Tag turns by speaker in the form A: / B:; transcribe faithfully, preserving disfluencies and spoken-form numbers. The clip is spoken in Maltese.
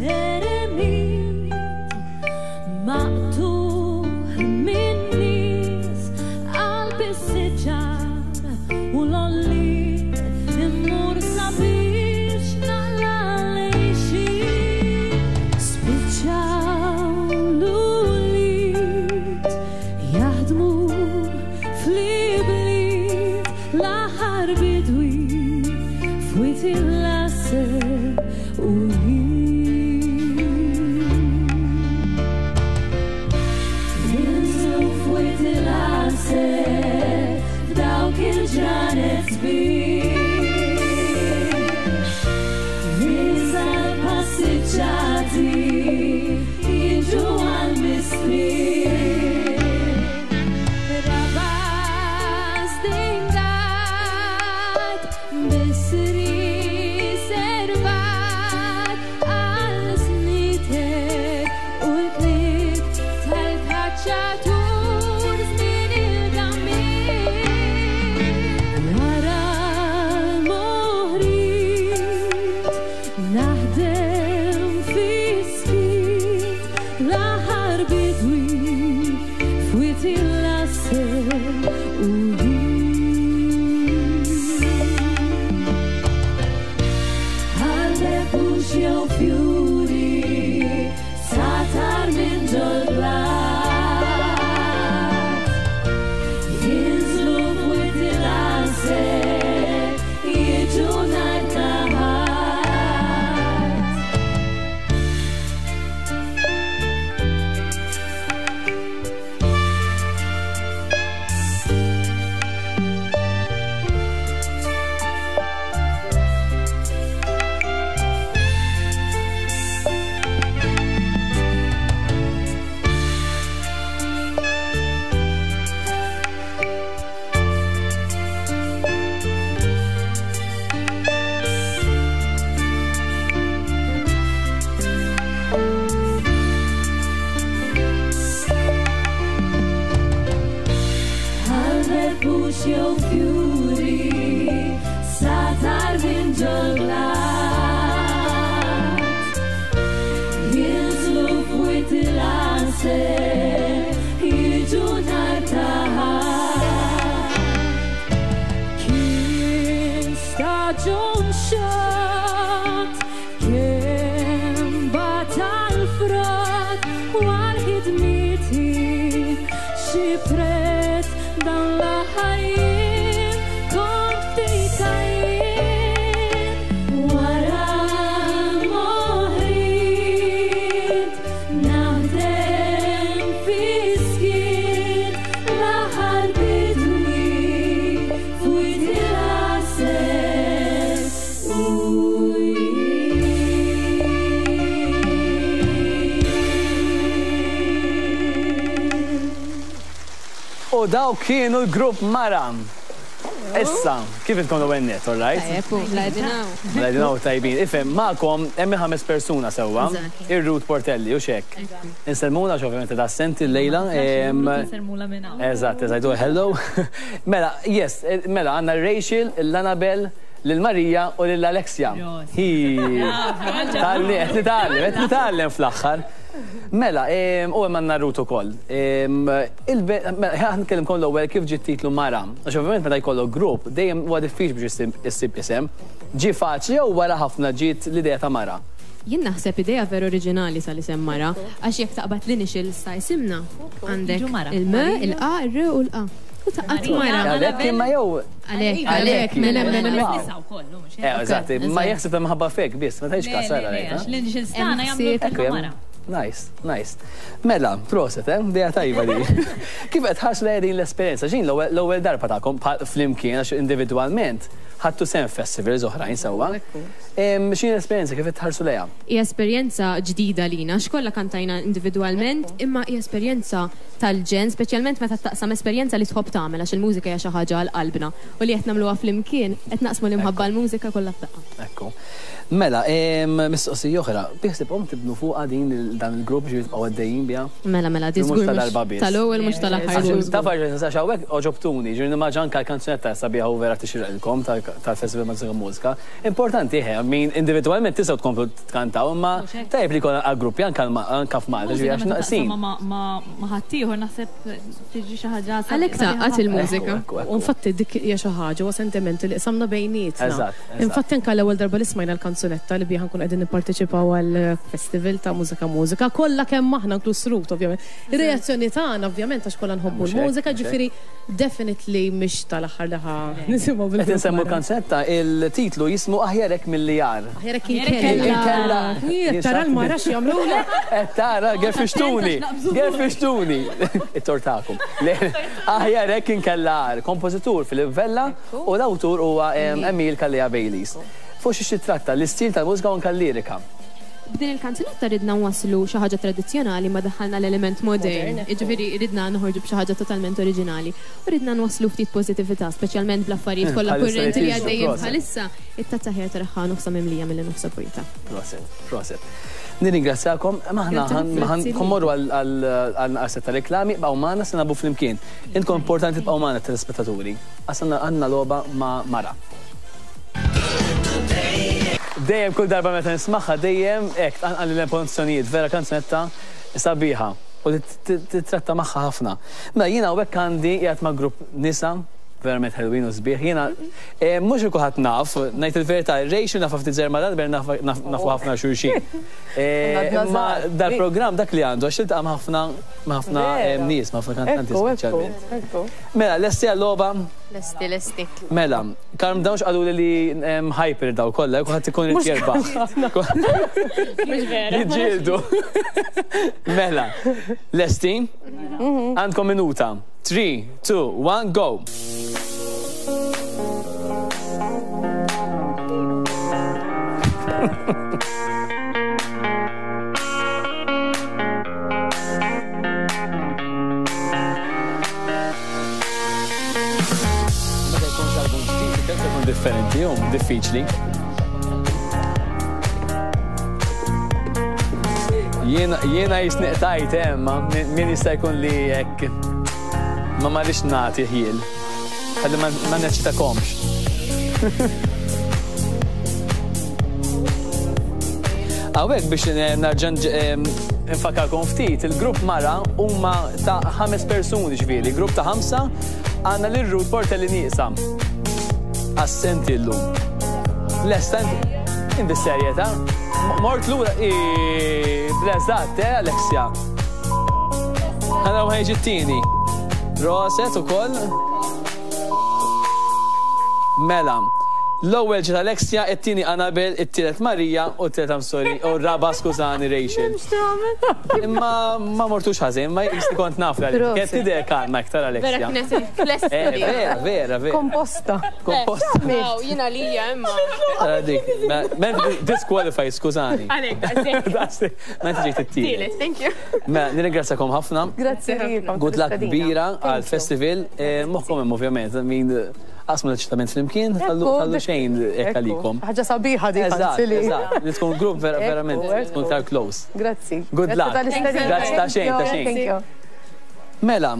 A: Eremit maqtugħ min-nies qalb is-siġar u l-għolliet immur sabiex naqla' l-għixien. Spiċċaw l-ulied jaħdmu fl-ibliet l-aħħar bidwi f'Wied il-Għasel u jien. Jinżlu f'Wied il-Għasel f'dawk il-ġranet sbieħ. Ninsa l-passiġġati jiġu għal-mistrieħ. Rabas dingat bisri servat għal snitek u l-klik tal-kaċċatur żmien il-gamir. Wara l-moħriet naħdem fis-skiet l-aħħar bidwi f'Wied il-Għasel u jien. Għal-bebbux jew fjuri satar minn ġol-blat. Jinżlu f'Wied il-Għasel jiġu nhar ta' Ħadd. Għal-bebbux jew fjuri satar minn ġol-blat. Jinżlu f'Wied il-Għasel jiġu nhar ta' Ħadd. Kien staġun xott, kien batal frott u għal ħidmieti xi prezz dan l-aħħar jiem kont ftit għajjien. Wara l-moħriet naħdem fis-skiet l-aħħar bidwi f'Wied il-Għasel u jien.
B: U daw kienu l-grupp Maram. Issa, kif intkom l-ewwel net, all right?
C: Tajjeb, u bladinaw.
B: Bladinaw tajbin. Ifhem, magħkom hemm ħames persuna sewwa.
C: Eżatt.
B: Ir-Ruth Portelli u xek. Insellmula għax ovvjament assenti l-lejla. Em,
D: Nsermula minn hawn.
B: Eżatt, eżatt, hello. Mela, yes, eh, mela għandna Rachel, l-Annabel, lil-Marija u lil-Alexia. Hi. Talli, qed nitgħallem, qed nitgħallem fl-aħħar. Mela, em, u hemm għandna Ruth ukoll. Em, il-be- mela, ħa nkellimkom l-ewwel kif ġie titlu Mara. Għax ovvjament meta jkollok grupp, dejjem huwa diffiċli biex issib- issib isem. Ġie faċli jew wara ħafna ġiet l-idea ta' Mara?
C: Jien naħseb idea veru oriġinali sal-isem Mara, għax jekk taqbad l-initials ta' isimna, għandek
D: Jiġu Mara.
C: il-M, il-A, il-R u l-A. U taqqat
D: Marija.
C: Mara.
B: Għalhekk imma jew
C: Għalek,
B: Għalek,
C: għalek, mela, mela, mela.
B: Wow.
D: Nisa wkoll, mhux
B: Eh, eżatt, ma jaħseb ta' minħabba fek biss, ma tgħidx kas ara
D: Le,
B: rajt,
D: għax
B: ha?
D: l-initials tagħna jagħmlu
C: Hemm
B: Ekku,
D: kelma
B: hemm-
D: Mara.
B: Nice, nice. Mela, proset, eh? Dija tajba di. Kif qed ħares lejn din l-esperjenza? Ġin l-ewwel l-ewwel darba tagħkom pa- flimkien għax individwalment ħadtu sehem festivals oħrajn sewwa. Em, X'inhi l-esperjenza kif qed tħarsu lejha?
C: Hija esperjenza ġdida lina, xkollha kantajna individwalment, imma hija esperjenza tal-ġen, speċjalment meta taqsam esperjenza li tħobb tagħmel għax il-mużika hija xi ħaġa għal qalbna u li qed nagħmluha flimkien qed naqsmu l-imħabba l-mużika kollha f'daqqa.
B: Ekku. Mela, em, mistoqsija oħra, biħsibhom tibnu fuqha din il- dan il-grupp ġifieri tibqgħu għaddejjin biha?
C: Mela, mela, di
B: Mhux
C: żgur
B: ta'
C: mhux
B: darba biss.
C: tal-ewwel mhux tal-aħħar.
B: Għax
C: żgur.
B: Taf għax għax hawnhekk oġobtuni, ġifieri nimmaġina anke l-kanzunetta sabiħa u vera tixirqilkom ta' tal-Festival Mużika Mużika. Importanti ħe, min individwalment tistgħu tkomplu tkantaw, imma tajjeb li jkun għal gruppi anke anke f'Malta, ġifieri għax naqsin.
D: Ma ħaddieħor naħseb tiġi xi ħaġa.
C: Għalhekk taqgħad il-mużika.
E: U infatti dik hija xi ħaġa huwa sentiment li qsamna bejnietna. Infatti anke l-ewwel darba li smajna l-kanzunetta li biha nkun qegħdin nipparteċipaw għall-festival ta' Mużika Mużika, kollha kemm aħna inkluż Ruth ovvjament. Ir-reazzjoni tagħna ovvjament għax kollha nħobbu l-mużika, ġifieri definitely mhix tal-aħħar li ħa nisimgħu bil.
B: Qed insemmu l-kanzunetta, il-titlu jismu Aħjar hekk milli agħar.
E: Aħjar hekk inkella. Tara l-mara x'jagħmlulek.
B: Qed tara gerfixtuni, gerfixtuni. It-tortakum. Aħjar hekk inkella agħar. Kompożitur Philip Vella u l-awtur huwa Emil Calleja Baileys. Fuq xi titratta l-istil tal-mużika u anke l-lirika.
C: B'din il-kanzunetta ridna nwasslu xi ħaġa tradizzjonali ma daħħalna l-element modern. Jiġifieri ridna noħorġu b'xi ħaġa totalment oriġinali. U ridna nwasslu ftit pożittività, speċjalment bl-affarijiet kollha kurrenti li għaddejjin bħalissa, it-tazza ħjar taraħħa nofsa mimlija milli nofsa vojta.
B: Proset, proset. Nirringrazzjakom, maħna ħammorru għal naqset ta' reklami, bqgħu magħna se nagħbu flimkien. Intkom importanti tibqgħu magħna telespettaturi. Għax għandna logħba ma' Mara. Dejjem kull darba meta nismagħha dejjem hekk tqanqal l-emozzjonijiet, vera kanzunetta sabiħa u li titratta magħha ħafna. Mela jiena hawnhekk għandi qiegħed ma' grupp nisa verament ħelwin u sbieħ. Jiena mhux kulħadd naf, ngħid il-verità, Rachel nafha ftit żgħir ma' dan, nafu ħafna xulxin. Imma dal-programm dak li għandu għax tiltaqa' ma' ħafna ma' ħafna nies, ma' ħafna kantanti speċjalment. Mela, lesti għal-logħba?
C: Lesti, lesti.
B: Mela, calm down x'qalu li hyper daw kollha, kulħadd ikun irid jerbaħ.
D: Mhux vera.
B: Jiġġieldu. Mela, lesti? Għandkom minuta. Three, two, one, go. Meta jkun album ġdid, ikun differenti, jum diffiċli. Jiena jiena jisniqtajt hemm, min jista' jkun li hekk ma marrix nagħti ħiel. Ħalli ma neċitakomx. Hawnhekk biex nerġa' nfakkarkom ftit, il-grupp Mara huma ta' ħames persuni ġifieri, grupp ta' ħamsa għandna lil Ruth Portelli nieqsa. Assenti llum. Lesta inti serjetà? Mort lura bleżatt, eh Alexia. Ħana ma jiġi t-tieni. Roset ukoll. Mela. L-ewwel ġiet Alexia, it-tieni Annabel, it-tielet Marija u t-tielet I'm sorry, u r-raba' skużani Rachel. Imma ma mortux ħażin, ma jisti kont naf li kienet tidher kalma iktar Alexia.
C: Vera kienet lesta.
B: Vera, vera, vera.
F: Komposta.
B: Komposta.
C: Jiena lija imma.
B: Dik, men disqualify, skużani.
C: Għalhekk,
B: Ma inti ġejt it-tielet.
C: Thank you.
B: Mela, nirringrazzjakom ħafna.
F: Grazzi lilkom.
B: Good luck kbira għall-festival. Moħħkom hemm ovvjament, min qasmu l-eċitament flimkien, ħallu xejn hekk għalikom.
F: Ħaġa sabiħa dik.
B: Eżatt, eżatt. Li tkun grupp verament, tkun tar close.
F: Grazzi.
B: Good luck. Grazzi ta' xejn, ta' xejn. Mela.